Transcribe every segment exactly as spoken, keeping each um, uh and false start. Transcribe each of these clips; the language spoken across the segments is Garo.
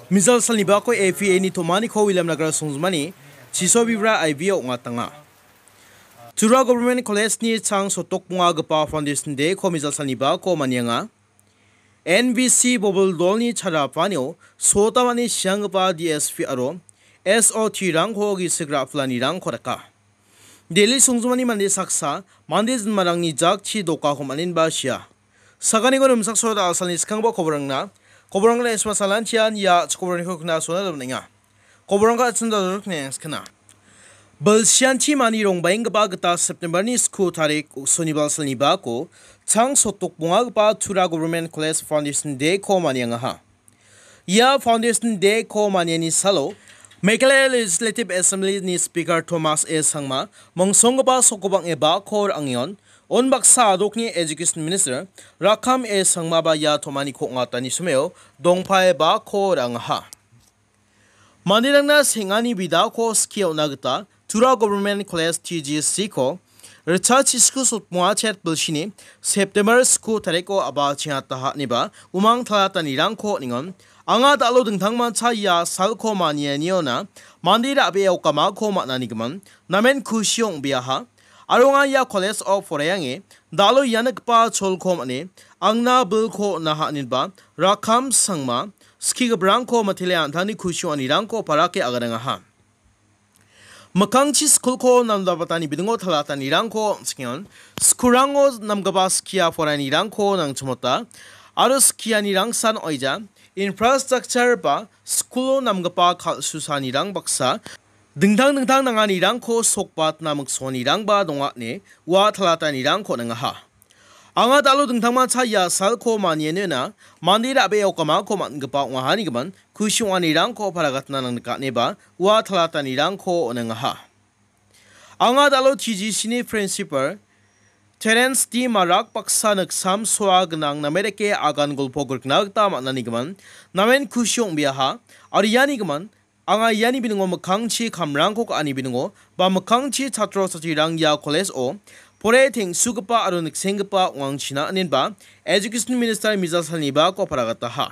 Mijal salnibako A P A ni tomaniko William Nagar songjinmani chisobibra I B O ong·atanga. Tura Government College-ni chang sotokbongagipa Foundation Day-ko mijal salnibako manianga. N B C bobil dolni charapanio sotamani sianggipa D S P aro S O T-rangko gisik ra·pilanirangko daka. Delhi songjinmani mande saksa mande jinmarangni jakchi dokako man·enba sia. Saganiko rimchaksoa da·alsalni skanggipa koborangna, koborangna esma salantian ia chikoborangko kna sona dam·enga. Koborangko atchim dal·rikni skana. Bilsianti mani rongbaenggipa gita September-ni sku tarik sonibal salnibako chang sotokbongagipa Tura Government College Foundation Day-ko maniangaha. Ia Foundation Day-ko maniani salo Meghalaya Legislative Assembly-ni Speaker Thomas A Sangma mongsonggipa sokobang·e bako ra·angengon, unbaksa adokni Education Minister Rakkam A Sangmaba ia tomaniko ong·atani someo dongpae bako ra·angaha. Manderangna seng·ani bidako skie on·na gita Tura Government College T G C-ko ritchachisku sotbonga chet bilsini September sku tariko a·bachengataha ineba umang talatanirangko on·engon. Anga da·alo dingtangmancha ia salko manianiona mande ra·bee okamako man·anigimin namen kusi ong·beaha. Aro anga ia college-o poraiange da·alo ia nikgipa cholko man·e angna bilko on·aha ineba Rakkam Sangma skigiparangko mitele an·tangni kusi ong·anirangko parake aganangaha. Mikkangchi skulko namdabatani bidingo talatanirangko on·singengon. Skulrango namgipa skia poraianirangko nangchimota aro skianirangsan oija infrastructure ba skulo namgipa kal·susaanirang baksa dingtang dingtang nanganirangko sokbatna miksonirangba donga ine ua talatanirangko on·angaha. Anga da·alo dingtangmancha ia salko manianina mande ra·bee okamako man·gipa ong·ahanigimin kusi ong·anirangko paragatna nangnika ineba ua talatanirangko on·angaha. Anga da·alo T G C-ni Principal Terence D Marak baksa niksam soa gnang name dake agan golpo grikna gita man·anigimin namen kusi ong·beaha. Aro ianigimin anga iani biningo mikkangchi kamrangko ka·ani biningo ba mikkangchi chatro chatrirang ia college-o pore teng·sugipa aro niksenggipa ong·angchina inenba Education Minister Mijal Salnibako paragataha.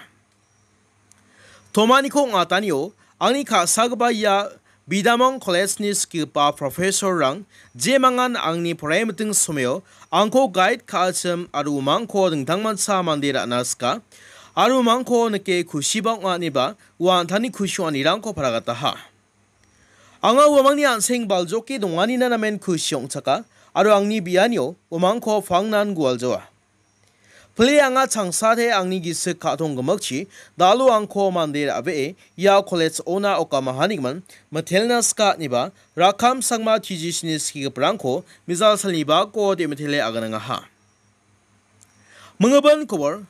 Tomaniko ong·atanio angni ka·sagipa ia Bidamang College-ni skigipa professor-rang jemangan angni poraimiting someo angko guide ka·achim aro umangko dingtangmancha mande ra·na sika aro umangko nike kusiba ong·a ineba ua an·tangni kusi ong·anirangko paragataha. Anga uamangni an·seng baljoke donganina namen kusi ong·chaka aro angni bianio uamangko pangnan gualjoa. Pile anga changsate angni gisik ka·tong gimikchi da·alo angko mande ra·bee ia college-ona okamahanigimin mitelna sika ineba Rakkam Sangma T G C-ni skigiparangko Mijal Salnibako de·mitele aganangaha. Minggipa kobor.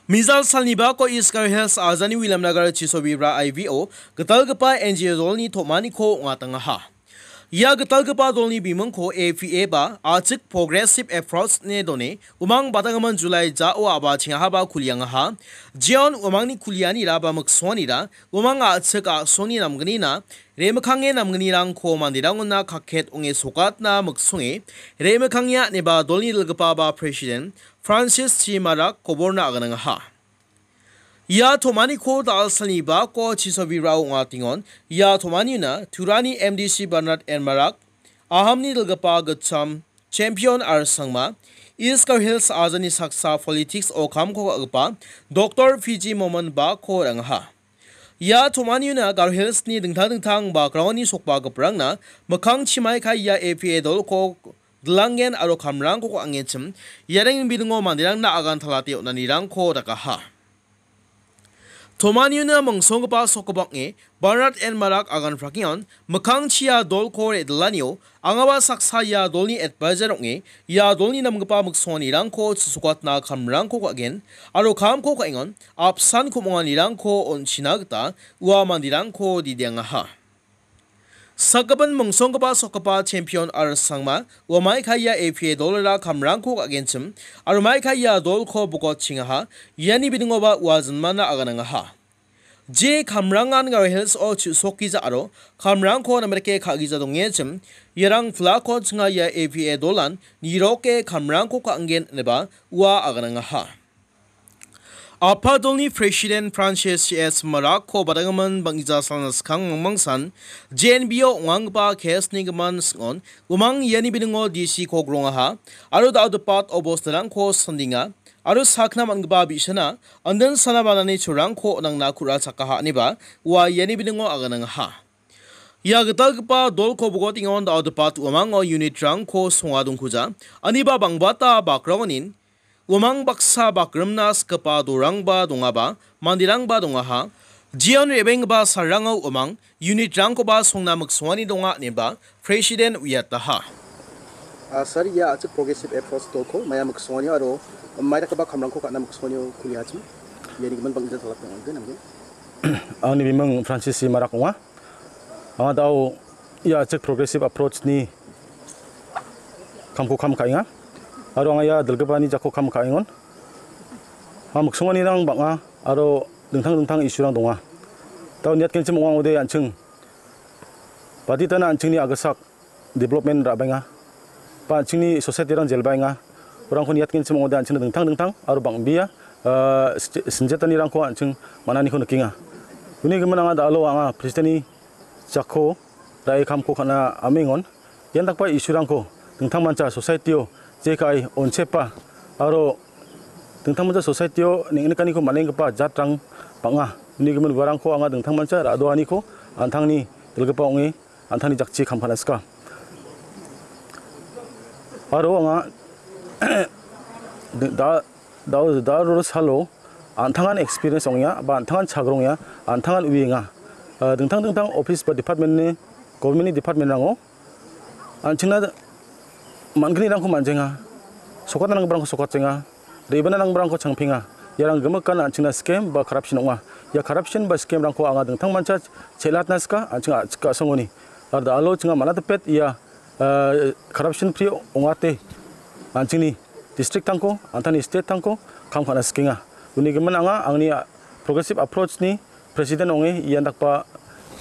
Mijal Salnibako East Garo Hills ajani Williamnagar Chisobibra I V O gitalgipa N G O dolni tomaniko ong·atangaha. Ia gitalgipa dolni bimingko A P A ba A Chik Progressive Approach ine done, umang batanggimin July ja·o a·bachengahaba kuliangaha. Jeon umangni kulianira ba miksonganira umang a·chik a·songni namgnina remikkange namgnirangko manderangona kaket ong·e sokatna miksonge remikangenga ineba dolni dilgipa ba President Francis Chi Marak koborna aganangaha. Ia tomaniko da·alsalni bako Chisobirao ong·atengon. Ia tomaniona Turani M D C Bernard N Marak, Ahamni dilgipa gitcham Champion R Sangma, East Garo Hills ajani saksa politics-o kamko ka·gipa Doctor P G Momin bako ra·angaha. Ia tomaniona Garo Hills-ni dingtang dingtang background-ni sokbagiparangna mikkang chimai ka·e ia A P A dolko dilanggen aro kamrangko ka·angenchim, iarangni bidingo manderangna agan talate on·anirangko dakaha. Tomaniona mingsonggipa sokobang·e Bernard N Marak agan prakengon, mikkangchia dolko re·dilanio angaba saksa ia dolni advisor ong·e, ia dolni namgipa miksonganirangko chisokatna kamrangko ka·gen, aro kamko ka·engon, apsan ku·monganirangko on·china gita ua manderangko didiangaha. Sakgipin mingsonggipa sokgipa Champion R Sangma, ua maikaia A P A dolra kamrangko ka·genchim, aro maikaia dolko bokotchengaha, iani bidingoba ua jinmana aganangaha. Je kamrangan Garo Hills-o chu·sokgija aro kamrangko namerike ka·gija dongengchim, iarang plako chinga ia A P A dolan niroke kamrangko ka·angen ineba ua aganangaha. Apadolni President Francis C S Marakko badanggimin bang·gija salna skang mangmangsan J N B O ong·anggipa case-ni gimin sing·on, uamang iani biningo D C-ko grongaha, aro da·o dipat obostarangko sandenga, aro sakna man·gipa bi·sana, andin sana banani cholrangko nangna ku·ra chakaha, ineba ua iani biningo aganangaha. Ia gitalgipa dolko bogotengon da·o dipat uamango unit-rangko songa dongkuja, aniba bangbata bakraonin, uamang baksa bakrimna sikgipa dorangba dongaba, manderangba dongaha. Jeon re·benggipa salrango uamang unit-rangkoba songna miksongani donga, ineba President uiataha. Ah, sir, ia a·chik progressive approach dolko maia miksongani aro maidakgipa kamrangko ka·na miksongani kuliachim. Iani gimin bang·gija talap ong·ode, nanggen. Angni biming Francis C Marak ong·a. Anga da·o ia a·chik progressive approach-ni kamko kam ka·enga. Aro anga ia dilgipani jakko kam ka·engon. Anga miksonganirang bang·a aro dingtang dingtang issue-rang donga. Da·o niatgenchim ong·a ong·ode an·ching baditana an·chingni a·gisak development ra·baenga. Ba an·chingni society-rang jelbaenga. Urangko niatgenchim ong·ode an·chingna dingtang dingtang aro bang·bea, ah, sinje-, sinjetanirangko an·ching man·aniko nikenga. Uni gimin anga da·alo anga President-ni jakko ra·e kamko ka·na amengon. Ian dakgipa issue-rangko dingtangmancha society-o jeka·e onchepa aro dingtangmancha society-o neng·nikaniko man·enggipa jatrang bang·a. Uni gimin uarangko anga dingtangmancha ra·doaniko an·tangni dilgipa ong·e an·tangni jakchi kam ka·na sika. Aro anga da-, da-, da-, da-, salo an·tangan experience ong·enga, ba an·tangan chagrongenga, an·tangan uienga. Ah, dingtang dingtang office ba department-ni, government-ni department-rango an·chingna man·gnirangko man·jenga, sokatna nanggiparangko sokatjenga, re·bana nanggiparangko changpenga. Iarang gimikan an·chingna scam ba corruption ong·a. Ia corruption ba scam-rangko anga dingtangmancha chelatna sika, an·ching a-, chika asongoni. Aro da·alo chinga manatipet ia, ah, corruption free ong·ate an·chingni district-tangko, an·tangni state-tangko kam ka·na sikenga. Uni gimin anga angni, ah, progressive approach-ni President ong·e ian dakgipa,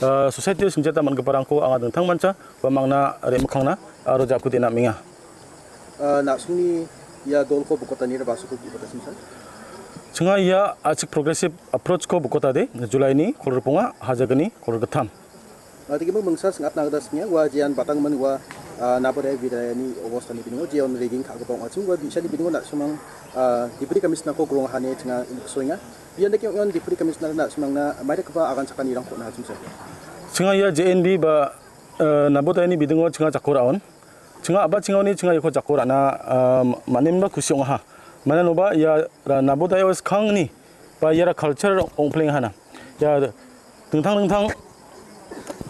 ah, society-o sinjeta man·giparangko anga dingtangmancha ba mangna re·mikkangna aro jakode·na amenga. Ah, na·songni ia dolko bokotani ra·basoko bokota simsa? Chinga ia a·chik progressive approach-ko bokotade, July-ni kolgrikonga, hajagni kolgrittam. Ah, tekemo mingsa sing·atna gita singa, ua jean batangman ua, ah, Naboda Vidayani obostani biningo jeon rigging ka·gipa ong·achim, ua bi·sani biningo na·simang, ah, Deputy Commissioner-ko grongahane chinga niksoenga. Ian dake ong·eon Deputy Commissioner-na na·simangna maidakgipa agan chakanirangko on·a hachimsa. Chinga ia J N B ba, eh, Nabodayani bidingo chinga jako ra·on. Chinga a·ba chingaoni chinga iako jako ra·na, ah, man·enba kusi ong·aha. Mananoba ia ra-, Nabodaya skangni ba iara culture ong·plengahana. Ia dingtang dingtang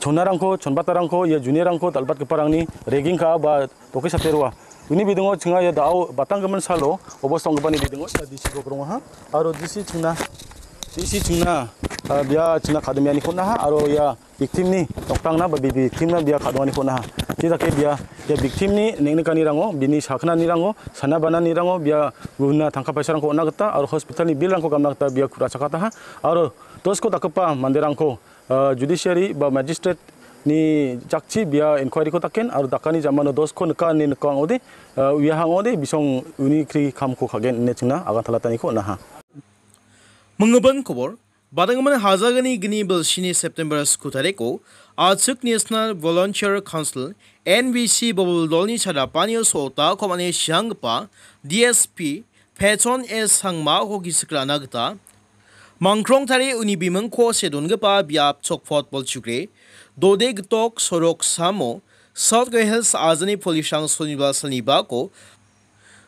chonarangko, chonbatarangko, ia juniorrangko dal·batgiparangni rigging ka·a ba doke sate roa. Uni bidingo chinga ia da·o batanggimin salo obosta ong·gipani bidingo ia D C-ko grongaha. Aro D C chingna, D C chingna, ah, bia chingna kadimianiko on·aha. Aro ia victim-ni nokdangna ba bi-, victim-na bia ka·donganiko on·aha. Jedake bia, ia victim-ni neng·nikanirango, bini saknanirango, sana bananirango bia guna tangka paisarangko on·a gita aro hospital-ni bill-rangko gamna gita bia ku·ra chakataha. Aro dosko dakgipa manderangko, ah, judiciary ba magistrate-ni jakchi bia inquiry-ko daken aro dakani jamano dosko nika ine nika ong·ode, ah, uiaha ong·ode bisong uni kri kamko ka·gen ine chingna agantalataniko on·aha. Minggimin kobor, badanggimin hajagni gni bilsini September sku tariko, a·chik National Volunteer Council, N V C bobil dolni chadapanio sota komane sianggipa D S P Pechon S Sangmako gisik ra·na gita, Mangkrongtari uni bimingko see dongipa biap Chokpot Bolchugre, Dode Gitok sorok samo, South Garo Hills ajani polisrang soniba salnibako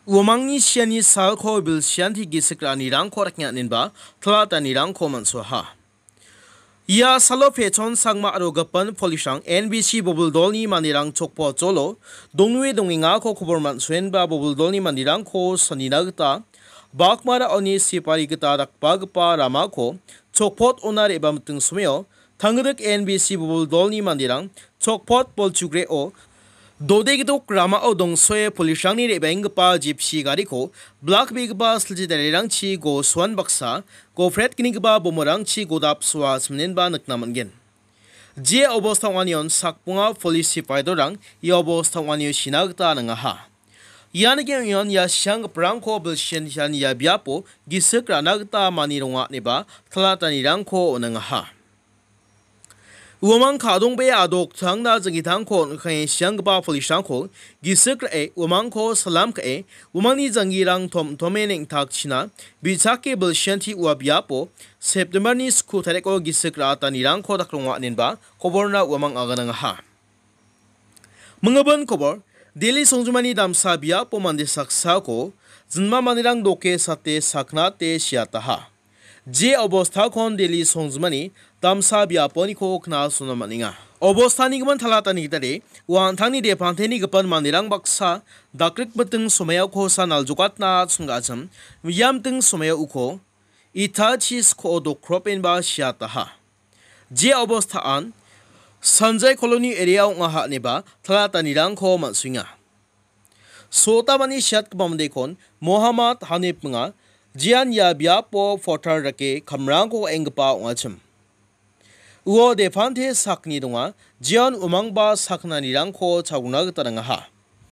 uamangni siani salko bilsianti gisik ra·anirangko rakna ninba tlatanirangko man·soaha. Ia salo Pechon Sangma aro gipin polisrang N B C bobil dolni manderang Chokpot jolo dongnue dongengako kobor man·soenba bobil dolni manderangko sonina gita bakmara oni sipari gita dakbagipa ramako Chokpot ona re·bamiting someo tangrik N B C bobil dolni manderang Chokpot Bolchugreo Dode Gitok ramao dongsoe polisrangni re·baenggipa jipsi gariko blak be·gipa silchi darirangchi gosoan baksa gopret gnigipa bomorangchi godap soa siminenba nikna man·gen. Jia obosta ong·anion sakbonga polis sipaidorang ia obosta ong·anio sina gita nangaha. Ian ge ong·ion ia sianggiparangko bilsian sian ia biapo gisik ra·na gita mani ronga ineba talatanirangko on·angaha. Uamang ka·dongbe adok tangna jangitangko on·kane sianggipa police-rangko gisik ra·e uamangko salam ka·e uamangni janggirang tom tome neng·takchina bi·sake bilsianti ua biapo September-ni sku tariko gisik ra·atanirangko dakronga inenba koborna uamang aganangaha. Mingibin kobor, Delhi songjumani damsa biapo mande saksako jinma manderang doke sate saknate siataha. Je obostakon Delhi songjumani damsa biaponiko knasona man·enga. Obostani gimin talatani gitade, uan tangni depanteni gipan manderang baksa dakrikbiting somaiokosa naljokatna chingachim, miamting somaio uko Itachi sko dokropenba siataha. Je obostaan Sanjay Colony area ong·aha ineba talatanirangko man·suenga. Sotamani siatgipa mandekon Mohammad Hanif minga, jean ia biapo porter dake kamrangko ka·enggipa ong·achim. Uo depante sakni donga, jean umangba saknanirangko chalgna gita nangaha.